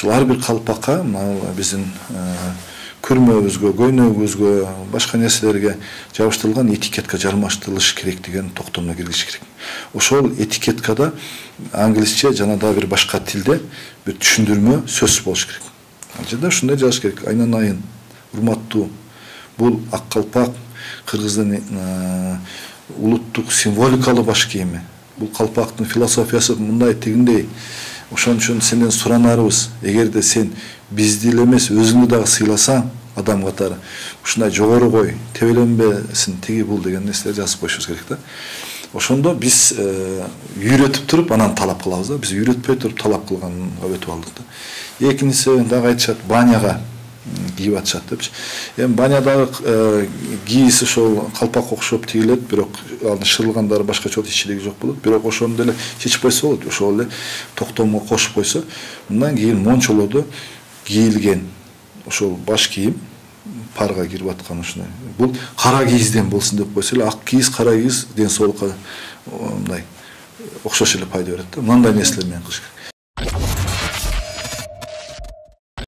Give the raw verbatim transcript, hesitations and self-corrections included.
ушул ар бир калпакка биздин күрмөбүзгө, көйнөгүбүзгө, башка нерселерге жабыштырылган этикетка жармаштырылыш керек деген токтомго киргизиш керек. Ошол этикеткада англисче жана дагы бир башка тилде бир түшүндүрмө сөз болуш керек. Ал жерде ушундай жазыш керек: айнанайын, урматтуу, бул ак калпак кыргыздын улуттук символикалуу баш кийими. Бул калпактын философиясы мындай тигиндей. Ошон үчүн сенден суранарыбыз, эгерде сен бизди эле эмес, өзүңдү дагы сыйласаң, адам катары, ушундай жогору кой, тебеленбесин, тиги бул деген нерселерди жазып коюшубуз керек да. Ошондо биз үйрөтүп туруп анан талап кылабыз да. Биз үйрөтпөй туруп талап кылганга өтүп алдык да. Экинчиси дагы айтышат, баняга кийип атышат депчи. Эми банядагы кийиси ошол калпакка окшоп тигилет, бирок анын шырылгандары башкача иччилиги жок болот. Бирок ошону деле чечип койсо болот. Ошол эле токтомго кошуп койсо, мындан кийин мончолордо кийилген ошол баш кийим парга кирип аткан ушундай. Бул кара кийизден болсун деп койсо эле, ак кийиз, кара кийиз ден соолукка мындай окшош эле пайда берет да. Мындай нерселер менен кылыш керек.